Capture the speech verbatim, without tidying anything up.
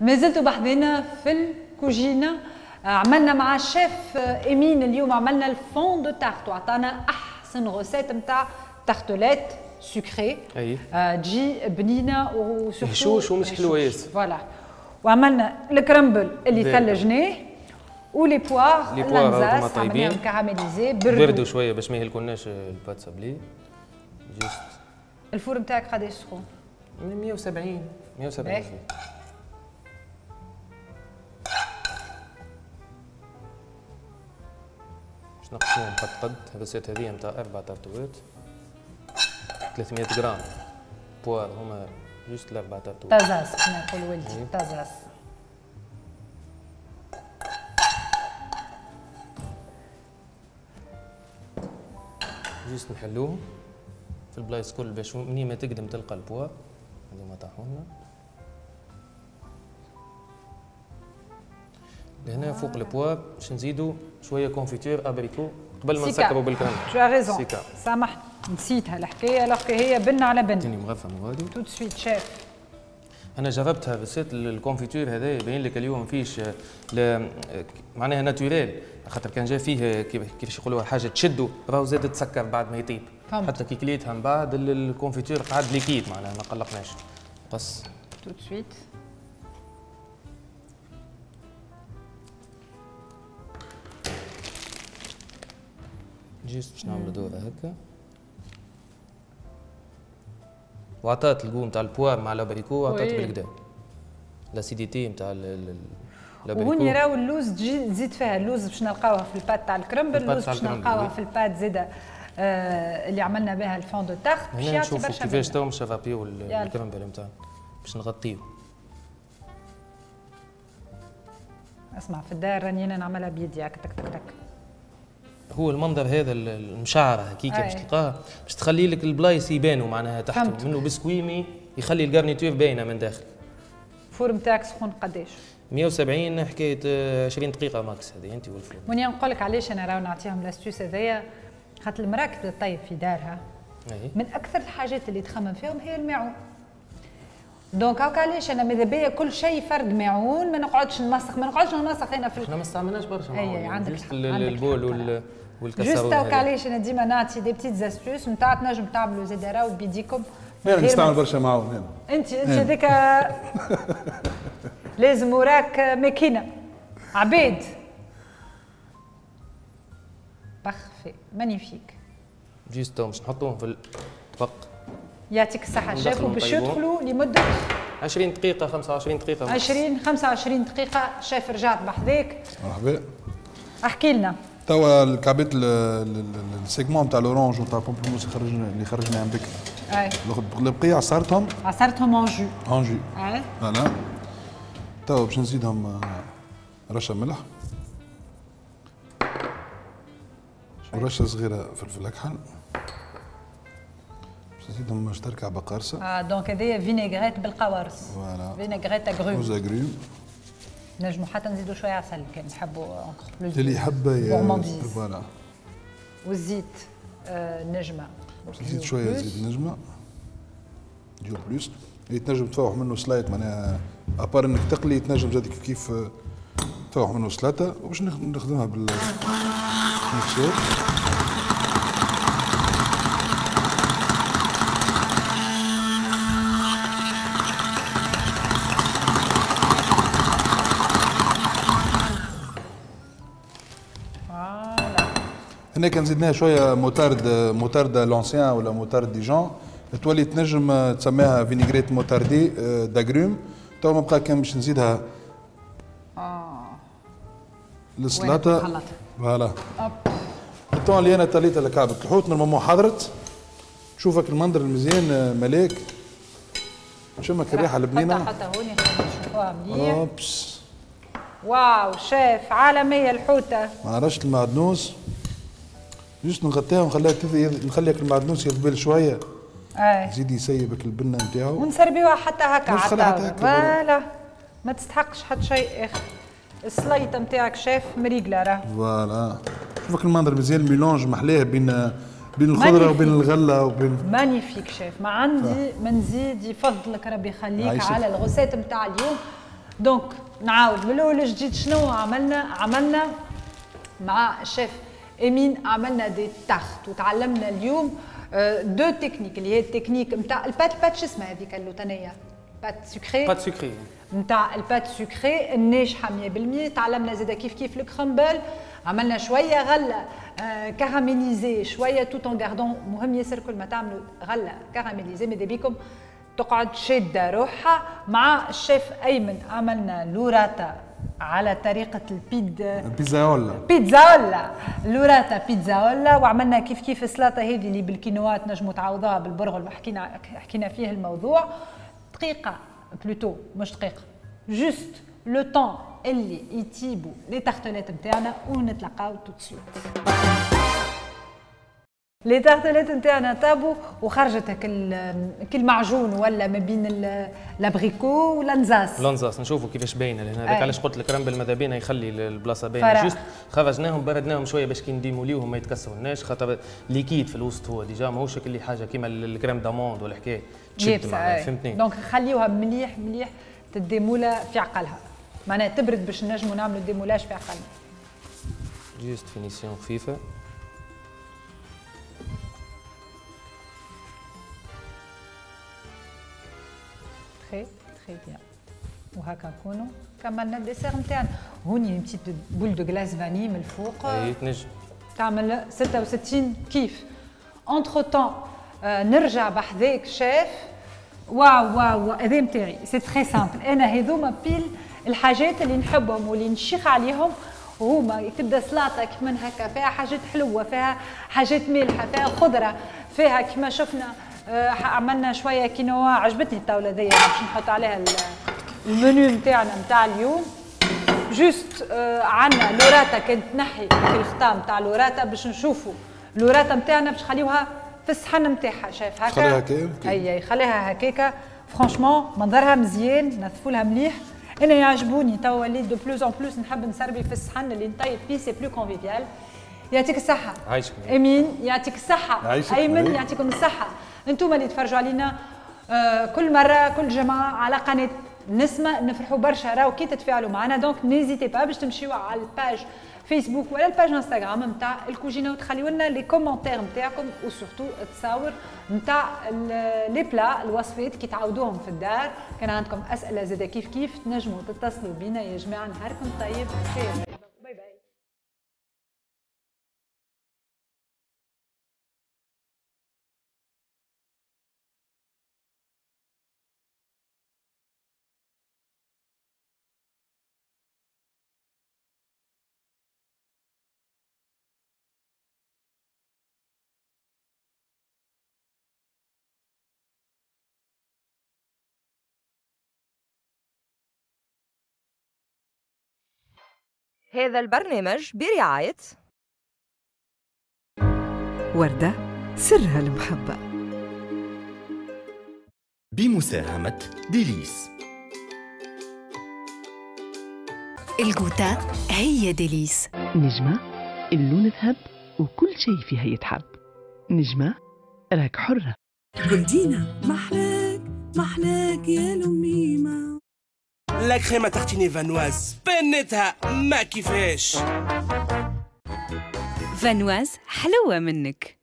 ما زلتوا بحذنا في الكوجينه. عملنا مع الشيف امين اليوم، عملنا ال fond de tarte وعطانا احسن recette نتاع tartelette sucrée. اي تجي بنينه و surtout هشوش ومش حلوة ياسر. voilà، وعملنا ال crumble اللي ثلجناه و les poires les poires عملناهم caramélisées، بردوا شوية باش ما يهلكولناش ال pâte sablée. juste ال four نتاعك قداش سخون؟ مية وسبعين مية وسبعين. باش نقسموهم قد قد. ال recette هذه نتاع أربع تارتوات، ثلاثمية غرام poires هما juste الأربع تارتوات. تازاس كما يقول ولدي، تازاس. juste نحلوهم في البلايص كل باش منين ما تقدم تلقى ال poire. هذوما طاحونا لهنا فوق ال poire باش نزيدو شوية confiture abricot قبل ما نسكروا بال crumble. tu as raison، سامحني نسيتها الحكاية alors هي بنه على بنه. تاني مغرفه من غادي tout de suite chef. انا جربتها recette ال confiture هذا يبين لك اليوم فيش معناها naturel، خاطر كان جا فيه كيفاش يقولوها حاجة تشدو راهو زاد تسكر بعد ما يطيب. حتى كي كليتها من بعد ال confiture قعد liquide معناها ما قلقناش. قص tout de suite. juste باش نعملو دوره هكا. وعطات ال goût نتاع ال poire مع l'abricot، عطات بالكدا l'acidité نتاع l'abricot. وهوني راهو اللوز تجي تزيد فيها اللوز باش نلقاوها في ال pâte تاع ال crumble، اللوز باش نلقاوها في ال pâte زاده آه اللي عملنا بها ال fond de tarte. باش يعطي برشا. كيفاش تو باش نرابيو ال crumble نتاعنا باش نغطيو. اسمع في الدار راني انا نعملها بيدي هكا تك تك تك. هو المنظر هذا المشعره هكيكا باش تلقاها باش تخلي لك البلايص يبانوا معناها تحت منه biscuit mais يخلي ال garniture باينة من داخل. ال four نتاعك سخون قداش؟ مية وسبعين حكاية عشرين دقيقة max هذه انت وال four. منيا نقول لك علاش انا راهو نعطيهم l'astuce هذايا، خاطر المراة كي تطيب في دارها أي. من اكثر الحاجات اللي تخمم فيهم هي الماعون. donc هاكا علاش انا ماذا بيا كل شيء فرد ماعون، ما نقعدش نمسخ، ما نقعدش نمسخ انا في احنا ما استعملناش برشا ماعون. اي عندك الحق، ال bol وال والكسرونه. juste هاكا علاش انا ديما نعطي des petites astuces نتاع تنجم تعملوا زاد راهو بيديكم. انا نستعمل برشا معاون انا. انت انت هذاك لازم وراك ماكينة عبيد. parfait magnifique. juste باش نحطوهم في الطبق. يعطيك الصحة شيف، وباش يدخلوا لمدة عشرين دقيقة خمسة وعشرين دقيقة. عشرين خمسة وعشرين دقيقة. شيف رجعت بحذاك. مرحبا. احكي لنا. توا الكعبات ال segments تاع l'orange وتاع pamplemousse خرجنا اللي خرجناهم بكري. اي. البقية عصرتهم. عصرتهم en jus. en jus. اي. voilà. توا باش نزيدهم رشة ملح. ورشة صغيرة فلفل أكحل. نزيدهم باش تركع بقرصه. اه donc هذايا vinaigrette بالقوارص. voilà vinaigrette agrumes. aux agrumes. نجمو حتى نزيدو شوية عسل كان نحبوا encore plus اللي يحب. voilà. والزيت آه نجمه. زيد شوية زيت نجمه ديو plus اللي تنجم تفوح منه سلايط معناها à part انك تقلي تنجم زاد كيف كيف تفوح منه سلاطه. وباش نخدمها بال mixeur. هنا كان زدناها شوية moutarde، moutarde l'ancienne ولا moutarde Dijon تولي تنجم تسميها vinaigrette moutardée d'agrumes. تو ما بقى كان باش نزيدها اه للسلطة. voilà الطون اللي انا طليتها لكعبة الحوت normalement حضرت. تشوفك المنظر المزيان ملاك، شمك الريحة البنينه. حتى هوني خلينا نشوفوها مليح. oups واو شيف عالمية الحوته. مع رشه المعدنوس juste نغطيها ونخليها تذ... نخليك المعدنوس يذبل شوية. اي يزيد يسيبك البنه نتاعو. ونسربيوها حتى هكا على voilà ما تستحقش حتى شيء اخر. السليطه نتاعك شيف مريقله راه. voilà شوفك المنظر مزيان، mélange محلاه بين بين الخضرة وبين الغلة وبين magnifique chef. ما عندي ما نزيد، يفضلك ربي يخليك على ال recette نتاع اليوم. donc نعاود من الاول جديد. شنو عملنا؟ عملنا مع الشيف امين عملنا des tartes، وتعلمنا اليوم deux techniques اللي هي التكنيك نتاع ال pâte. pâte شو اسمها هذيك اللوتانيه؟ pâte sucrée. pâte sucrée نتاع ال pâte sucrée الناجحة مية بالمية. تعلمنا زاده كيف كيف ال crumble، عملنا شوية غله آه caramélisée شوية tout en gardant. مهم ياسر كل ما تعملوا غله caramélisée ماذا بيكم تقعد شاده روحها. مع الشيف ايمن عملنا l'burrata على طريقه البيد بيتزاولا بيتزاولا l'burrata بيتزاولا. وعملنا كيف كيف السلطة هذه اللي بالكينوا تنجموا تعوضوها بالبرغل، وحكينا حكينا فيه الموضوع. دقيقة plutôt مش دقيقة، juste le temps اللي يطيبوا les tartelettes نتاعنا ونتلاقاو tout de suite. les tartelettes نتاعنا طابوا وخرجت كل معجون ولا ما بين l'abricot والانزاس. الانزاس نشوفوا كيفاش باينة لهنا، هذاك علاش قلت ال crumble ماذا بينا يخلي البلاصة باينة. juste خرجناهم بردناهم شوية باش كي نديموليوهم ما يتكسرولناش، خاطر liquide في الوسط هو déjà ماهوش اللي حاجة كيما ال crème d'amande ولا حكاية تشد معناها، فهمتني؟ donc خليوها مليح مليح تديمولا في عقلها، معناها تبرد باش نجموا نعملوا démoulage في عقلنا. juste finition خفيفة. très très bien. وهكا نكونوا كملنا ال dessert نتاعنا. هوني petite boule de glace vanille من الفوق. اي تنجم تعمل ستة وستين كيف. entre-temps نرجع بحذاك شيف. واو واو هذا نتاعي c'est très simple. انا هذوما pile الحاجات اللي نحبهم واللي نشيخ عليهم، وهما تبدا سلطة كيما هكا فيها حاجات حلوة، فيها حاجات مالحة، فيها خضرة، فيها كيما شفنا عملنا شوية كينوا. عجبتني الطاولة ذي باش نحط عليها المنيو نتاعنا نتاع اليوم. juste عندنا l'burrata كانت تنحي الختام نتاع l'burrata باش نشوفوا l'burrata نتاعنا باش نخليوها في الصحن نتاعها. شايف هكا؟ خليها هكاك. اي خليها هكاكا. franchement منظرها مزيان، نظفوا لها مليح. انا يعجبوني توا وليت de plus en plus نحب نسربي في الصحن اللي نطيب فيه، c'est plus convivial. يعطيك الصحة عايشك امين، يعطيك الصحة ايمن، يعطيكم الصحة انتم اللي تفرجوا علينا آه كل مرة كل جمعة على قناة نسمة. نفرحوا برشا راهو كي تتفاعلوا معنا، donc n'hésitez pas باش تمشيو على ال page فيسبوك ولا ال page انستغرام نتاع الكوجينه وتخليو لنا les commentaires نتاعكم، و surtout التصاور نتاع les plats الوصفات كي تعاودوهم في الدار. كان عندكم اسئلة زاده كيف كيف تنجموا تتصلوا بينا. يا جماعة نهاركم طيب، خير، bye bye. هذا البرنامج برعاية وردة سرها المحبة، بمساهمة ديليس. الجوتا هي ديليس. نجمة اللون ذهب وكل شيء فيها يتحب. نجمة راك حرة. جولدينا محلاك محلاك يا لميمة. la crème à tartiner فانواز بنتها ما كيفاش. فانواز حلوة منك.